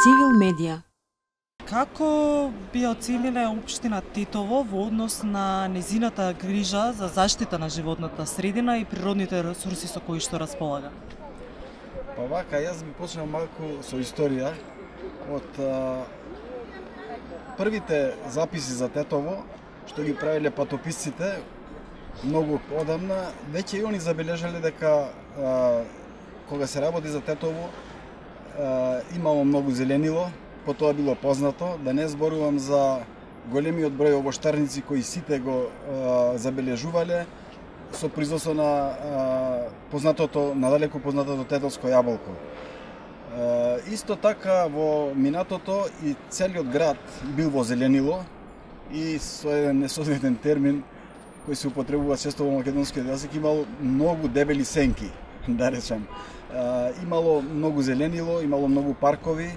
Цивил медија. Како би оцениле општина Тетово во однос на незината грижа за заштита на животната средина и природните ресурси со кои што располага? Па вака, јас би почнал малку со историја од првите записи за Тетово, што ги правиле патописците многу одамна, веќе и они забележале дека кога се работи за Тетово имало многу зеленило, потоа било познато, да не зборувам за големиот број овоштарници кои сите го забележувале со производство на надалеку познатото тетовско јаболко. Исто така во минатото и целиот град бил во зеленило и со еден несоодветен термин кој се употребува често во македонскиот јазик, имало многу дебели сенки, да речем. Имало многу зеленило, имало многу паркови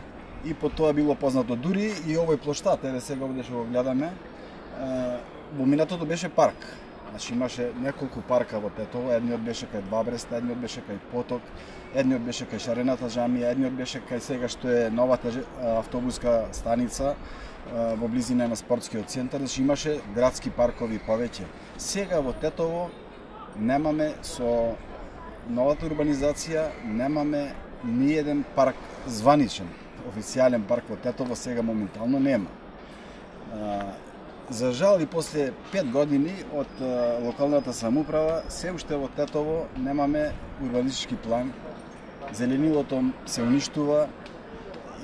и по тоа било познато. Дури и овој плоштад, еве сега овде што го гледаме, во минатото беше парк. Значи имаше неколку парка во Тетово, едниот беше кај Бабреста, едниот беше кај Поток, едниот беше кај Шарената џамија, едниот беше кај сега што е новата автобуска станица во близина на спортскиот центар, значи имаше градски паркови повеќе. Сега во Тетово немаме, со новата урбанизација, немаме ни еден парк званичен, официјален парк во Тетово сега моментално нема. За жал и после 5 години од локалната самоуправа, се уште во Тетово немаме урбанистички план, зеленилото се уништува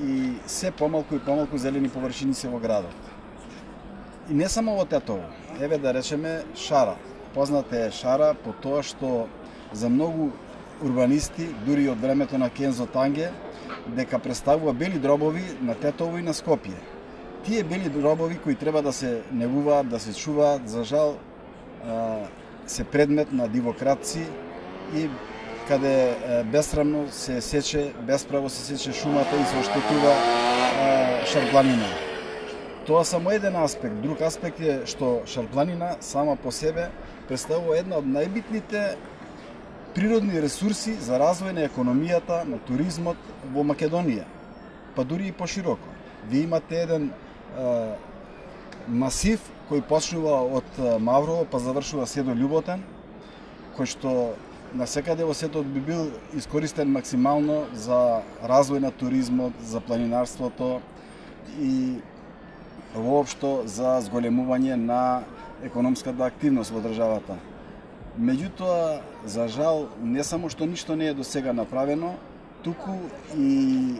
и се помалку и помалку зелени површини се во градот. И не само во Тетово, еве да речеме Шара. Позната е Шара по тоа што за многу урбанисти, дури од времето на Кензо Танге, дека представува бели дробови на Тетово и на Скопје. Тие бели дробови кои треба да се негуваат, да се чуваат, за жал се предмет на дивократци и каде бесрамно се сече, бесправо се сече шумата и се оштетува шарпланина. Тоа само еден аспект. Друг аспект е што шарпланина сама по себе представува една од најбитните природни ресурси за развој на економијата, на туризмот во Македонија, па дури и пошироко. Ви имате еден масив кој почнува од Маврово па завршува се до Љуботен, кој што насекаде во светот би бил искористен максимално за развој на туризмот, за планинарството и воопшто за зголемување на економската активност во државата. Меѓутоа, за жал, не само што ништо не е до сега направено, туку и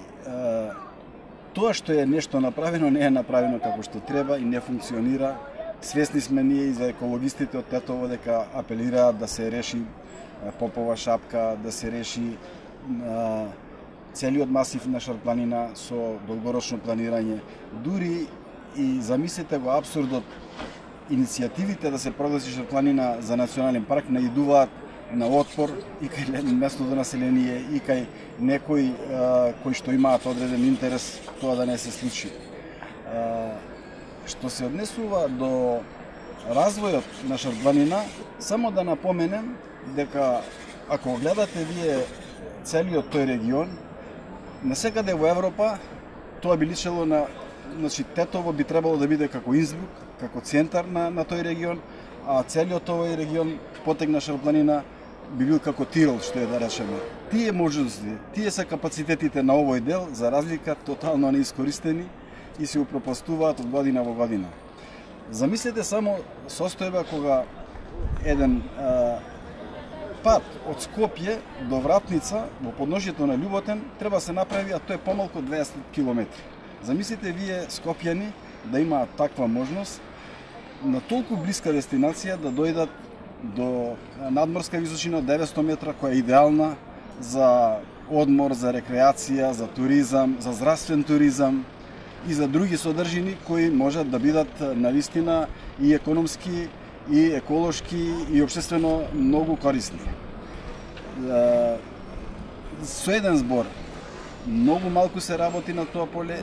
тоа што е нешто направено не е направено како што треба и не функционира. Свесни сме ние и за екологистите од Тетово дека апелираат да се реши Попова шапка, да се реши целиот масив на шарпланина со долгорочно планирање. Дури и замислете го абсурдот, иницијативите да се прогласи шарпланина за национален парк наидуваат на отпор и кај местното население и кај некои кои што имаат одреден интерес тоа да не се случи. Што се однесува до развојот на шарпланина, само да напоменем дека ако гледате вие целиот тој регион, насекаде во Европа тоа би личело на, значи Тетово би требало да биде како Инсбрук, како центар на тој регион, а целиот овој регион потег на шарпланина би бил како Тирол, што е да речеме. Тие можности, тие се капацитетите на овој дел, за разлика тотално неискористени и се упропастуваат од година во година. Замислете само состојба кога еден пат од Скопје до Вратница во подножјето на Љуботен треба се направи, а тоа е помалку од 20 километри. Замислите вие скопјани да имаат таква можност на толку блиска дестинација да дојдат до надморска височина од 900 метра, која е идеална за одмор, за рекреација, за туризам, за здравствен туризам и за други содржини кои можат да бидат навистина и економски, и еколошки, и општествено многу корисни. Со еден збор, многу малку се работи на тоа поле,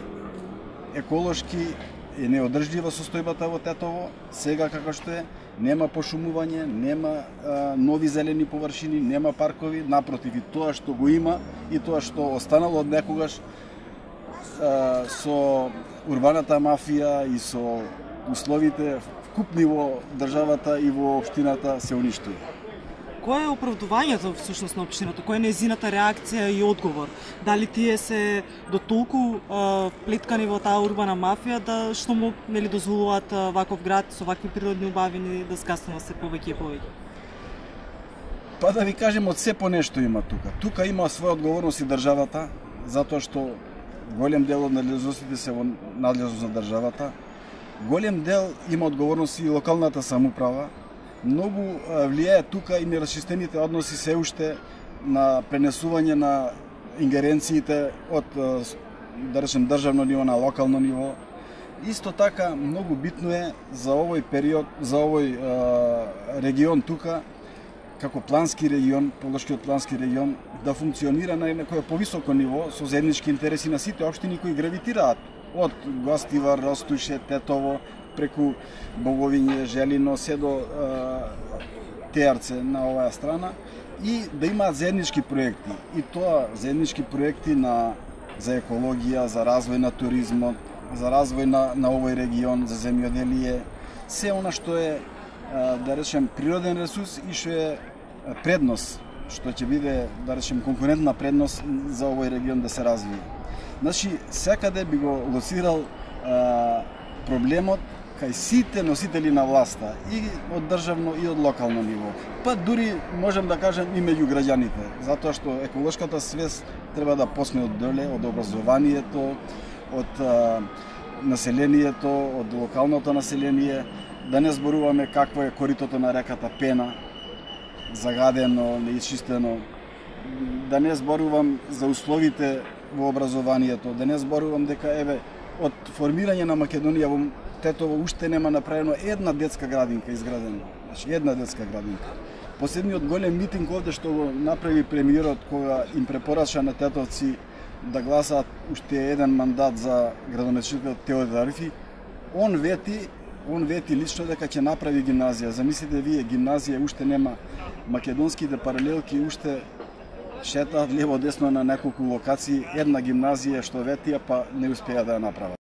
еколошки е неодржлива состојбата во Тетово, сега како што е, нема пошумување, нема нови зелени површини, нема паркови, напротив, и тоа што го има и тоа што останало од некогаш со урбаната мафија и со условите вкупни во државата и во општината се уништува. Кој е оправдувањето всушност на општината? Која е нејзината реакција и одговор? Дали тие се до толку плеткани во таа урбана мафија да што му дозволуваат ваков град со вакви природни убавини да скаснува се повеќе и повеќе? Па да ви кажем, од се по нешто има тука. Тука има своја одговорност и државата, затоа што голем дел од надлежностите се во надлежност на државата. Голем дел има одговорност и локалната самоуправа. Многу влијае тука и нерашчистените односи се уште на пренесување на ингеренциите од, да речем, државно ниво на локално ниво. Исто така, многу битно е за овој период, за овој регион тука, како плански регион, Полошкиот плански регион, да функционира на некој повисоко ниво, со заеднички интереси на сите општини кои гравитираат од Гостивар, Ростуше, Тетово, преку Боговиње, Желино, се до Теарце на оваа страна, и да имаат заеднички проекти. И тоа заеднички проекти за екологија, за развој на туризмот, за развој на овој регион, за земјоделие, се она што е, да речем, природен ресурс и што е предност, што ќе биде, да речем, конкурентна предност за овој регион да се развие. Значи, секаде би го лоцирал проблемот кај сите носители на власта, и од државно и од локално ниво. Па дури можем да кажем и меѓу граѓаните, затоа што еколошката свест треба да почне од доле, од образованието, од населението, од локалното население, да не зборуваме какво е коритото на реката Пена, загадено, неичистено, да не зборувам за условите во образованието, да не зборувам дека од формирање на Македонија во Тетово уште нема направено една детска градинка изградена. Значи, една детска градинка. Последниот голем митинг овде што го направи премиерот кога им препорача на тетовци да гласаат уште еден мандат за градоначелникот Теодор Арифи, он вети лично дека ќе направи гимназија. Замислите вие, гимназија уште нема, македонските паралелки уште шетаат лево десно на неколку локации, една гимназија што ветија, па не успеа да ја направат.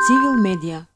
Civil Media